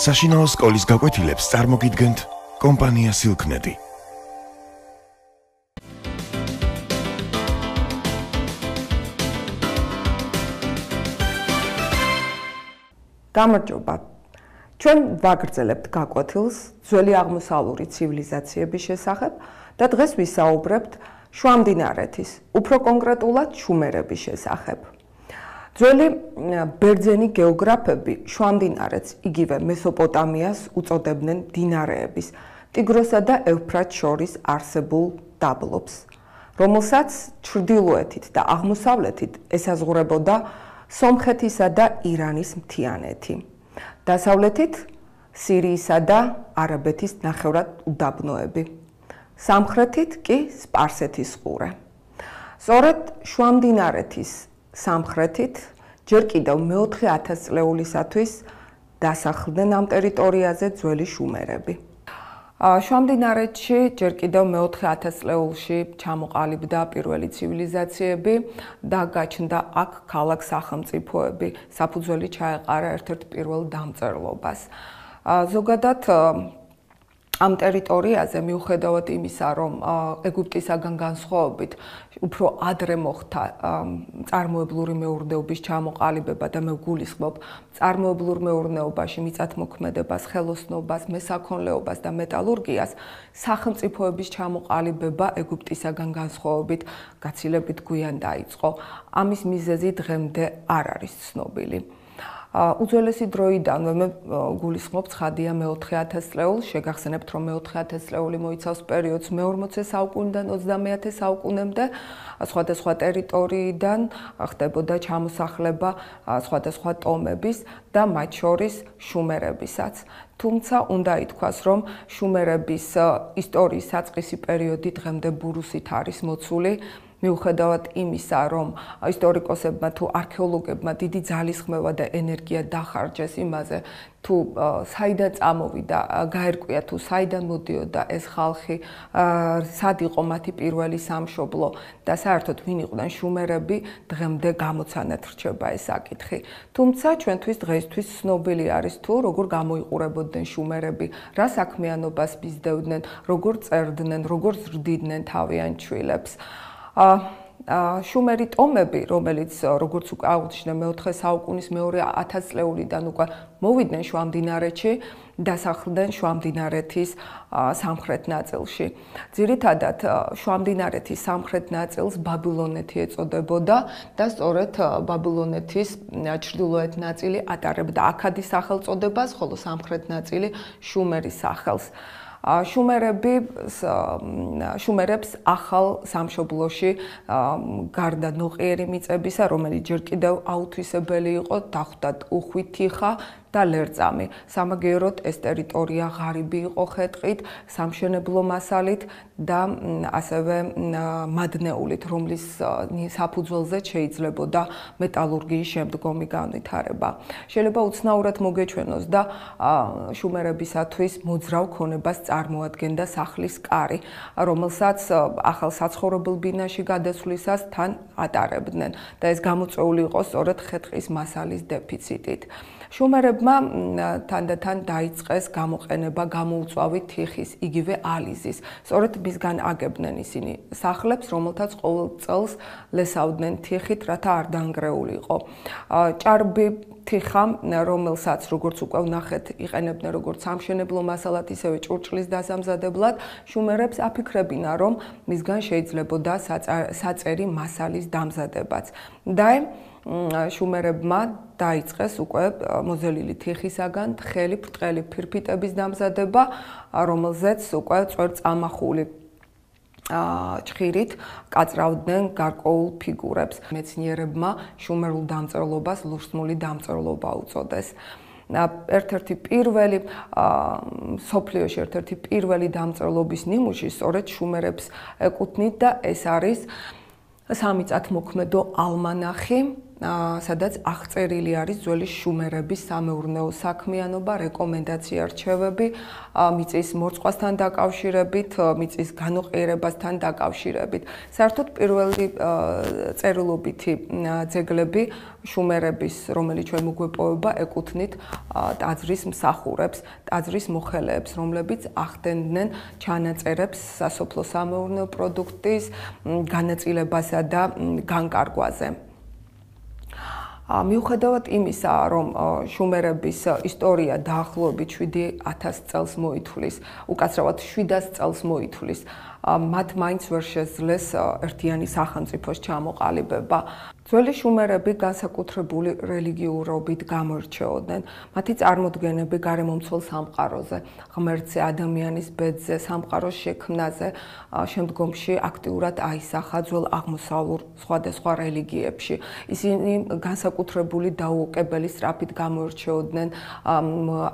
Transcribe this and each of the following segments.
საშინაო სკოლის გაკვეთილებს წარმოგიდგენთ კომპანია სილქნეტი. გამარჯობა. ჩვენ ვაგრძელებთ გაკვეთილს ძველი აღმოსავლური ცივილიზაციების შესახებ და დღეს ვისაუბრებთ შუამდინარეთის, უფრო კონკრეტულად შუმერების შესახებ. ძველი ბერძენი გეოგრაფები შუამდინარეთს, იგივე მესოპოტამიას უწოდებდნენ მდინარეების, ტიგროსა და ევფრატს შორის არსებულ დაბლობს, რომელსაც ჩრდილოეთით და აღმოსავლეთით ესაზღვრებოდა სომხეთისა და ირანის მთიანეთი. დასავლეთით სირიისა და არაბეთის ნახევრად უდაბნოები. სამხრეთით კი სპარსეთის ყურე. სწორედ შუამდინარეთის სამხრეთით ჯერ კიდევ მე-4,000 წლეულისათვის დასახლდნენ ამ ტერიტორიაზე ძველი შუმერები. შუამდინარეთში ჯერ კიდევ მე-4,000 წლეულში ჩამოყალიბდა პირველი ცივილიზაციები და გაჩნდა აქ ქალაქ-სახელმწიფოები. საფუძველი ჩაეყარა ერთ-ერთ პირველ დამწერლობას. ზოგადად ამ ტერიტორიაზე მიუხედავად იმისა, რომ ეგვიპტისაგან განსხვავებით უფრო ადრე მოხდა წარმოებლური მეურნეობის ჩამოყალიბება და მე ვგულისხმობ წარმოებლურ მეურნეობაში მიწათმოქმედებას, ხელოსნობას, მესაქონლეობას და მეტალურგიას, სახელმწიფოების ჩამოყალიბება ეგვიპტისაგან განსხვავებით გაცილებით გვიან დაიწყო. ამის მიზეზი დღემდე არ არის ცნობილი. უძველესი დროიდან მე გულისხმობ ცხადია მე-4,000 წლეულს, შეგახსენებთ, რომ მე-4,000 წლეული მოიცავს პერიოდს მე-40 საუკუნიდან 30 საუკუნემდე, სხვადასხვა ტერიტორიიდან ხდებოდა ჩამოსახლება სხვადასხვა ტომების და მათ შორის შუმერებისაც. თუმცა უნდა ითქვას, რომ შუმერების ისტორიის საწყისი პერიოდი დღემდე ბურუსით არის მოცული. მიუხედავად იმისა, რომ ისტორიკოსებმა თუ არქეოლოგებმა დიდი ძალისხმევა და ენერგია დახარჯეს იმაზე, თუ საიდან წამოვიდა, გაერკვია თუ საიდან მოდიოდა ეს ხალხი, სად იყო მათი პირველი სამშობლო და საერთოდ ვინ იყვნენ შუმერები, დღემდე გამოცანად რჩება ეს საკითხი. თუმცა ჩვენთვის დღეისთვის ცნობილი არის თუ როგორ გამოიყურებოდნენ შუმერები, რა საქმიანობას მისდევდნენ, როგორ წერდნენ, როგორ ზრდიდნენ თავიანთ შვილებს. შუმერი ტომები, რომელიც როგორც უკვე აღვნიშნე მე-4 საუკუნის მე-2000 წლეულიდან უკვე მოვიდნენ შუამდინარეთში, დასახლდნენ შუამდინარეთის სამხრეთ ნაწილში. ძირითადად შუამდინარეთის სამხრეთ ნაწილს ბაბილონეთი ეწოდებოდა და სწორედ ბაბილონეთის ჩრდილოეთ ნაწილი ატარებდა აქადის სახელწოდებას, ხოლო სამხრეთ ნაწილი შუმერის სახელს. შუმერებს ახალ სამშობლოში გარდა ნოყიერი მიწებისა, რომელიც ჯერ კიდევ აუთვისებელი იყო, დახვდათ უხვი თიხა და ლერწამი. სამაგიეროდ ეს ტერიტორია ღარიბი იყო ხეტყით, სამშენებლო მასალით და ასევე მადნეულით, რომლის საფუძველზე შეიძლებოდა მეტალურგიის შემდგომი განვითარება. შეიძლება უცნაურად მოგეჩვენოს და შუმერებისათვის მოძრავ ქონებას წარმოადგენდა სახლის კარი, რომელსაც ახალ საცხოვრებელ ბინაში გადასვლისას თან ატარებდნენ და ეს გამოწვეული იყო სწორედ ხეტყის მასალის დეფიციტით. შუმერებმა თანდათან დაიწყეს გამოყენება გამოუწვავი თიხის, იგივე ალიზის. სწორედ მისგან აგებდნენ ისინი სახლებს, რომელთაც ყოველ წელს ლესავდნენ თიხით, რათა არ დაანგრეულიყო. ჭარბი თიხა, რომელსაც როგორც უკვე ვნახეთ, იყენებდნენ როგორც სამშენებლო მასალად, ისევე ჭურჭლის დასამზადებლად, შუმერებს აფიქრებინა, რომ მისგან შეიძლებოდა საწერი მასალის დამზადებაც. და შუმერებმა დაიწყეს უკვე მოზელილი თიხისაგან თხელი ბრტყელი ფირფიტების დამზადება, რომელზეც უკვე წვერწამახული ჭხირით კაწრავდნენ გარკვეულ ფიგურებს. მეცნიერებმა შუმერულ დამწერლობას ლურსმული დამწერლობა უწოდეს. ერთ-ერთი პირველი მსოფლიოში ერთ-ერთი პირველი დამწერლობის ნიმუში სწორედ შუმერებს ეკუთვნით და ეს არის სამიწათმოქმედო ალმანახი, სადაც აღწერილი არის ძველი შუმერების სამეურნეო საქმიანობა, რეკომენდაცია, რჩევები, მიწის მორწყვასთან დაკავშირებით, მიწის განოყიერებასთან დაკავშირებით. საერთოდ პირველი წერილობითი ძეგლები შუმერების, რომელიც ჩვენ მოგვეპოვება, ეკუთვნით ტაძრის მსახურებს, ტაძრის მოხელეებს, რომლებიც ახდენდნენ ჩანაწერებს სასოფლო სამეურნეო პროდუქტის განაწილებასა და განკარგვაზე. მიუხედავად იმისა, რომ შუმერების ისტორია დაახლოებით 7000 წელს მოითვლის, უკაცრავად 700 წელს მოითვლის, მათ მაინც ვერ შეძლეს ერთიანი სახელმწიფოს ჩამოყალიბება. ძველი შუმერები განსაკუთრებული რელიგიურობით გამოირჩეოდნენ. მათი წარმოდგენები გარემომცველ სამყაროზე, ღმერთზე, ადამიანის ბედზე, სამყაროს შექმნაზე, შემდგომში აქტიურად აისახა ძველ აღმოსავლურ სხვადასხვა რელიგიებში. ისინი განსაკუთრებული დაუოკებელი სწრაფით გამოირჩეოდნენ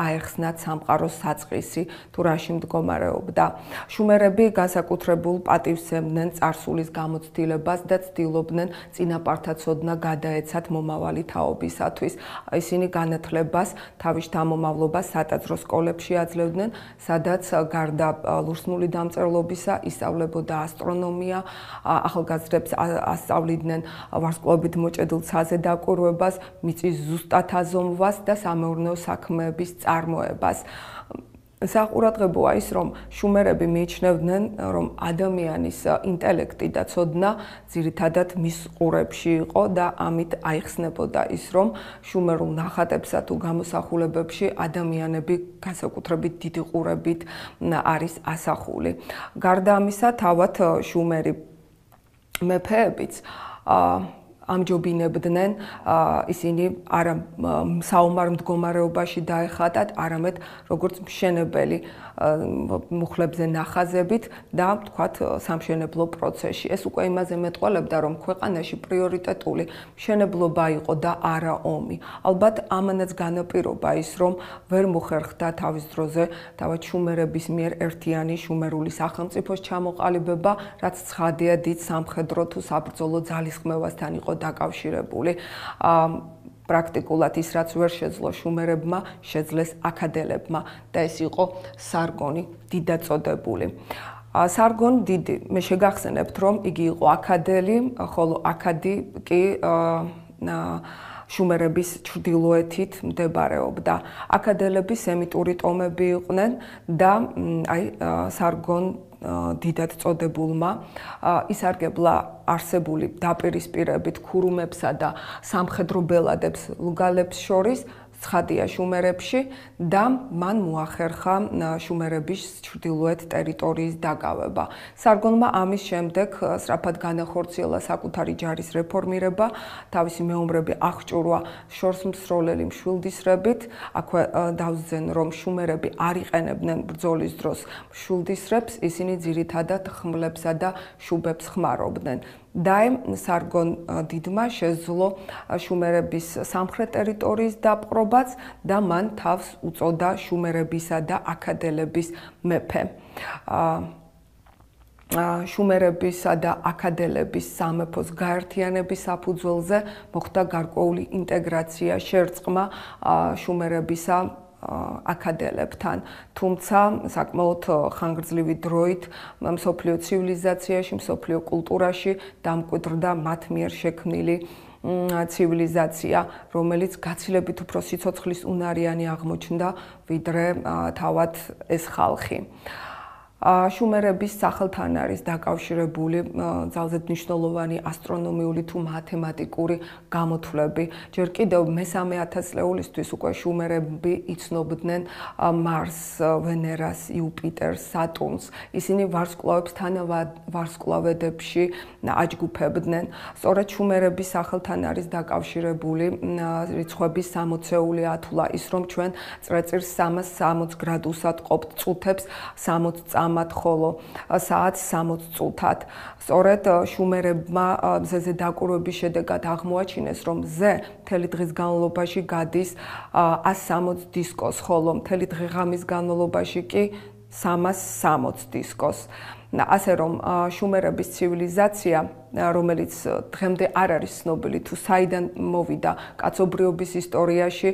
აეხსნათ სამყაროს საწყისი, თუ რაში მდგომარეობდა. შუმერები განსაკუთრებულ პატივს ემდნენ წარსულის გამოცდილებას და ცდილობდნენ წინაპართა ცოდნა გადაეცათ მომავალი თაობისათვის. ისინი განათლებას, თავის შთამომავლობას სატაძრო სკოლებში აძლევდნენ, სადაც გარდა ლურსმული დამწერლობისა ისწავლებოდა ასტრონომია, ახალგაზრდებს ასწავლიდნენ ვარსკვლავებით მოჭედილ ცაზე დაკვირვებას, მიწის ზუსტად აზომვას და სამეურნეო საქმეების წარმოებას. საყურადღებოა ის, რომ შუმერები მიიჩნევდნენ, რომ ადამიანის ინტელექტი და ცოდნა ძირითადად მის ყურებში იყო და ამით აიხსნებოდა ის, რომ შუმერულ ნახატებსა თუ გამოსახულებებში ადამიანები განსაკუთრებით დიდი ყურებით არის ასახული. გარდა ამისა, თავად შუმერი მეფეებიც ამჯობინებდნენ ისინი არა საომარ მდგომარეობაში დაეხატათ, არამედ როგორც მშენებელი მუხლებზე ნახაზებით და თქვათ სამშენებლო პროცესში. ეს უკვე იმაზე მეტყველებდა, რომ ქვეყანაში პრიორიტეტული მშენებლობა იყო და არა ომი. ალბათ ამანაც განაპირობა ის, რომ ვერ მოხერხდა თავის დროზე თავად შუმერების მიერ ერთიანი შუმერული სახელმწიფოს ჩამოყალიბება, რაც ცხადია დიდ სამხედრო თუ საბრძოლო ძალისხმევასთან იყო დაკავშირებული. პრაქტიკულად ის, რაც ვერ შეძლო შუმერებმა, შეძლეს აქადელებმა და ეს იყო სარგონი დიდაწოდებული. სარგონ დიდი, მე შეგახსენებთ, რომ იგი იყო აქადელი, ხოლო აქადი კი შუმერების ჩრდილოეთით მდებარეობდა. აქადელები სემიტური ტომები იყვნენ და სარგონ დიდად წოდებულმა ისარგებლა არსებული დაპირისპირებით ქურუმებსა და სამხედრო ბელადებს ლუგალებს შორის ცხადია შუმერებში და მან მოახერხა შუმერების ჩრდილოეთ ტერიტორიის დაკავება. სარგონმა ამის შემდეგ სწრაფად განახორციელა საკუთარი ჯარის რეფორმირება, თავისი მეომრები აღჭურვა შორსმსროლელი მშვილდისრებით. აქვე დავსძენ, რომ შუმერები არ იყენებდნენ ბრძოლის დროს მშვილდისრებს, ისინი ძირითადად ხმლებსა და შუბებს ხმარობდნენ. დაემ სარგონ დიდმა შეძლო შუმერების სამხრეთ ტერიტორიის დაპყრობაც და მან თავს უწოდა შუმერებისა და აქადელების მეფე. შუმერებისა და აქადელების სამეფოს გაერთიანების საფუძველზე მოხდა გარკვეული ინტეგრაცია, შერწყმა შუმერებისა აქადელებთან, თუმცა საკმაოდ ხანგრძლივი დროით მსოფლიო ცივილიზაციაში, მსოფლიო კულტურაში დამკვიდრდა მათ მიერ შექმნილი ცივილიზაცია, რომელიც გაცილებით უფრო სიცოცხლის უნარიანი აღმოჩნდა, ვიდრე თავად ეს ხალხი. შუმერების სახელთან არის დაკავშირებული ძალზედ მნიშვნელოვანი ასტრონომიული თუ მათემატიკური გამოთვლები. ჯერ კიდევ მესამე ათასწლეულისთვის უკვე შუმერები იცნობდნენ მარსს, ვენერას, იუპიტერს, სატურნს. ისინი ვარსკვლავებს თანავარსკვლავედებში აჯგუფებდნენ. სწორედ შუმერების სახელთან არის დაკავშირებული რიცხვების 60-ეული ათვლა, ის რომ ჩვენ წრეწირს 360 გრადუსად ყოფთ, წუთებს 60 წამად, ხოლო საათს 60 წუთად. სწორედ შუმერებმა მზეზე დაკვირვების შედეგად აღმოაჩინეს, რომ მზე მთელი დღის განმავლობაში გადის 160 დისკოს, ხოლო მთელი დღე-ღამის განმავლობაში კი 360 დისკოს. ასე რომ შუმერების ცივილიზაცია, რომელიც დღემდე არ არის ცნობილი თუ საიდან მოვიდა კაცობრიობის ისტორიაში,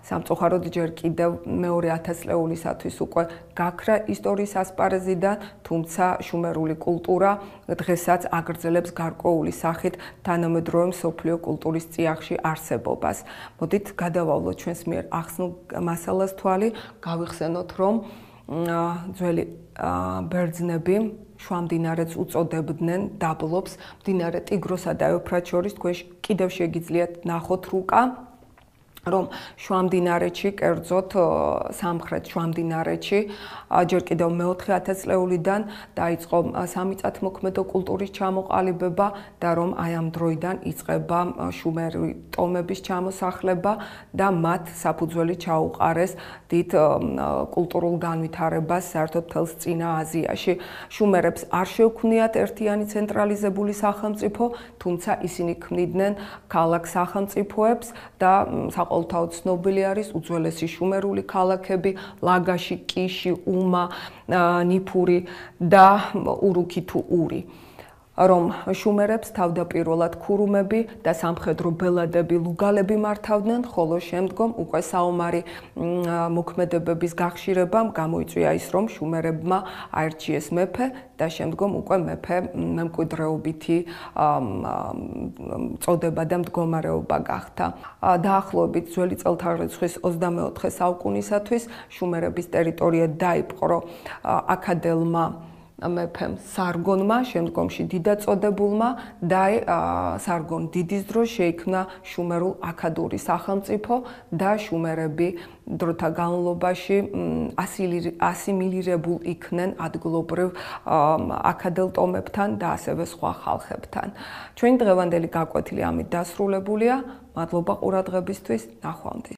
სამწუხაროდ ჯერ კიდევ მეორე 1000 წლეულისათვის უკვე გაქრა ისტორიის ასპარეზიდან, თუმცა შუმერული კულტურა დღესაც აგრძელებს გარკვეული სახით თანამედროვე მსოფლიო კულტურის წიაღში არსებობას. მოდით გადავავლოთ ჩვენს მიერ ახსნილ მასალას თვალი, გავიხსენოთ, რომ ძველი ბერძნები შუამდინარეთს უწოდებდნენ დაბლობს, მდინარე ტიგროსა და ევფრატს შორის თქვენ კიდევ შეგიძლიათ ნახოთ რუკა, რომ შუამდინარეთში, კერძოდ სამხრეთ შუამდინარეთში, ჯერ კიდევ მე-4 ათასწლეულიდან დაიწყო სამიწათმოქმედო კულტურის ჩამოყალიბება და რომ აი ამ დროიდან იწყება შუმერული ტომების ჩამოსახლება და მათ საფუძველი ჩაუყარეს დიდ კულტურულ განვითარებას საერთოდ მთელს წინა აზიაში. შუმერებს არ შეუქმნიათ ერთიანი ცენტრალიზებული სახელმწიფო, თუმცა ისინი ქმნიდნენ ქალაქ სახელმწიფოებს და საყოველთაოდ ცნობილი არის უძველესი შუმერული ქალაქები ლაგაში, კიში, უმა, ნიფური და ურუქი თუ ური. რომ შუმერებს თავდაპირველად ქურუმები და სამხედრო ბელადები, ლუგალები მართავდნენ, ხოლო შემდგომ უკვე საომარი მოქმედებების გახშირებამ გამოიწვია ის, რომ შუმერებმა აერჩიეს მეფე და შემდგომ უკვე მეფე მემკვიდრეობითი წოდება და მდგომარეობა გახდა. დაახლოებით ძველი წელთაღრიცხვის 24 საუკუნისათვის შუმერების ტერიტორია დაიპყრო აქადელმა მეფემ სარგონმა, შემდგომში დიდაწოდებულმა და სარგონ დიდის დროს შეიქმნა შუმერულ აქადური სახელმწიფო და შუმერები დროთა განმავლობაში ასიმილირებულ იქნენ ადგილობრივ აქადელ ტომებთან და ასევე სხვა ხალხებთან. ჩვენი დღევანდელი გაკვეთილი ამით დასრულებულია. მადლობა ყურადღებისთვის, ნახვამდის.